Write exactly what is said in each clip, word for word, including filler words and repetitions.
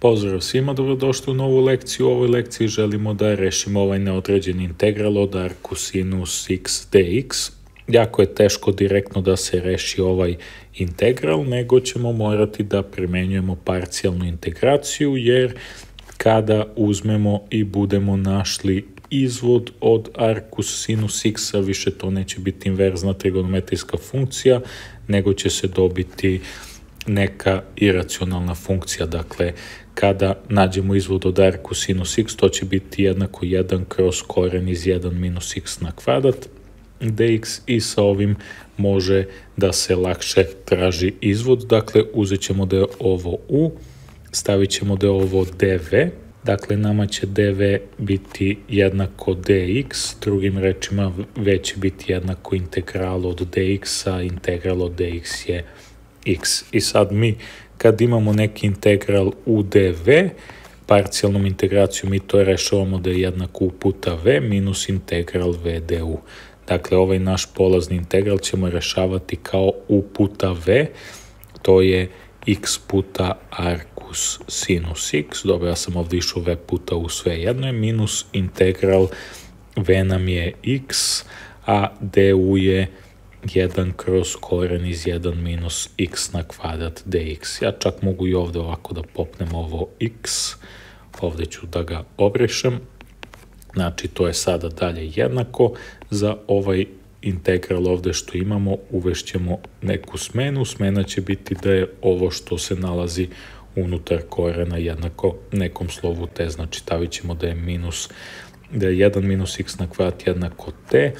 Pozdrav svima, dobrodošli u novu lekciju. U ovoj lekciji želimo da rešimo ovaj neodređeni integral od arcosinus x dx. Jako je teško direktno da se reši ovaj integral, nego ćemo morati da primenjujemo parcijalnu integraciju, jer kada uzmemo i budemo našli izvod od arcosinus x, više to neće biti inverzna trigonometrijska funkcija, nego će se dobiti neka iracionalna funkcija. Dakle, kada nađemo izvod od arcosinus x, to će biti jednako jedan kroz koren iz jedan minus x na kvadrat dx i sa ovim može da se lakše traži izvod. Dakle, uzet ćemo da je ovo u, stavit ćemo da je ovo dv, dakle nama će dv biti jednako dx, drugim rečima v će biti jednako integral od dx, a integral od dx je x. I sad mi kad imamo neki integral u dv, parcijalnom integracijom mi to rešavamo da je jednako u puta v minus integral v du. Dakle, ovaj naš polazni integral ćemo rešavati kao u puta v, to je x puta arcus sinus x, dobro, ja sam ovdje išao v puta u sve jedno, je minus integral v nam je x, a du je jedan kroz koren iz jedan minus x na kvadrat dx. Ja čak mogu i ovdje ovako da popnem ovo x, ovdje ću da ga obrišem. Znači, to je sada dalje jednako. Za ovaj integral ovdje što imamo uvešćemo neku smenu. Smena će biti da je ovo što se nalazi unutar korena jednako nekom slovu t. Znači, stavit ćemo da je minus, da je jedan minus x na kvadrat jednako t.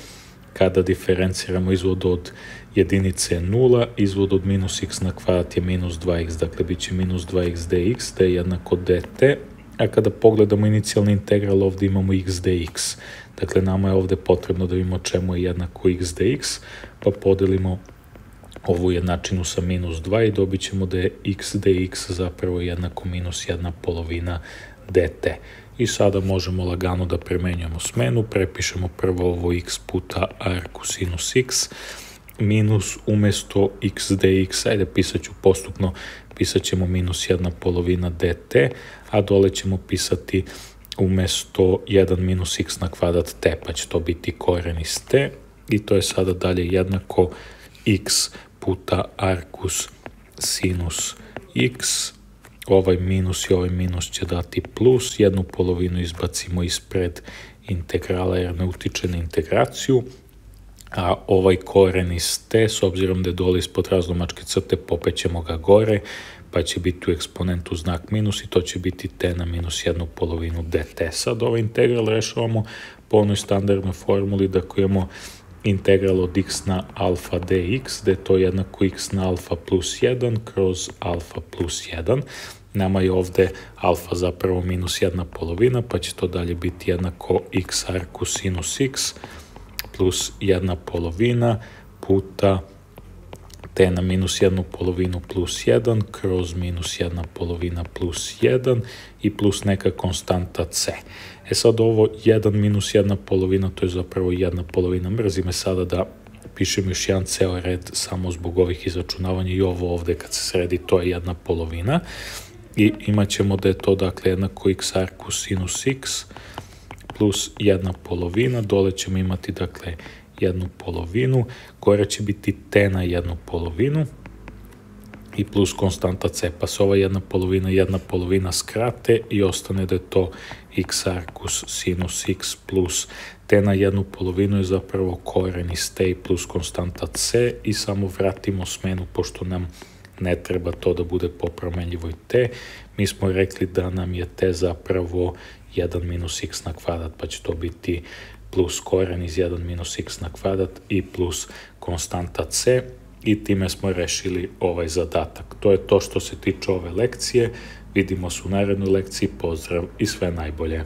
Kada diferenciramo izvod od jedinice nula, izvod od minus x na kvadrat je minus dva x, dakle bit će minus dva x dx, da je jednako dt, a kada pogledamo inicijalni integral ovdje imamo x dx, dakle nama je ovdje potrebno da vidimo čemu je jednako x dx, pa podelimo ovu jednačinu sa minus dva i dobit ćemo da je x dx zapravo jednako minus jedna polovina dt. I sada možemo lagano da premenjujemo smenu, prepišemo prvo ovo x puta arcosinus x, minus umesto x dx, ajde pisat ću postupno, pisat ćemo minus jedna polovina dt, a dole ćemo pisati umesto jedan minus x na kvadrat t, pa će to biti koren iz t, i to je sada dalje jednako x puta arcus sinus x, ovaj minus i ovaj minus će dati plus, jednu polovinu izbacimo ispred integrala jer ne utiče na integraciju, a ovaj koren iz t, s obzirom da je dole ispod razlomačke crte, popećemo ga gore, pa će biti u eksponentu znak minus i to će biti t na minus jednu polovinu dt. Sad ovaj integral rešavamo po onoj standardnoj formuli da ako imamo integral od x na alfa dx, da je to jednako x na alfa plus jedan kroz alfa plus jedan. Nama je ovdje alfa zapravo minus jedna polovina, pa će to dalje biti jednako x arcosinus x plus jedna polovina puta t na minus jednu polovinu plus jedan kroz minus jedna polovina plus jedan i plus neka konstanta c. E sad ovo jedan minus jedna polovina, to je zapravo jedna polovina. Mrzi me sada da pišem još jedan ceo red samo zbog ovih izračunavanja i ovo ovdje kad se sredi, to je jedna polovina. I imat ćemo da je to dakle jednako x arcosinus x plus jedna polovina, dole ćemo imati dakle jednu polovinu, gore će biti t na jednu polovinu i plus konstanta c, pa se ova jedna polovina jedna polovina skrate i ostane da je to x arcus sinus x plus t na jednu polovinu je zapravo koren iz t plus konstanta c i samo vratimo smenu pošto nam ne treba to da bude po promenljivoj t. Mi smo rekli da nam je t zapravo jedan minus x na kvadrat, pa će to biti plus koren iz jedan minus x na kvadrat i plus konstanta c i time smo rešili ovaj zadatak. To je to što se tiče ove lekcije. Vidimo se u narednoj lekciji. Pozdrav i sve najbolje.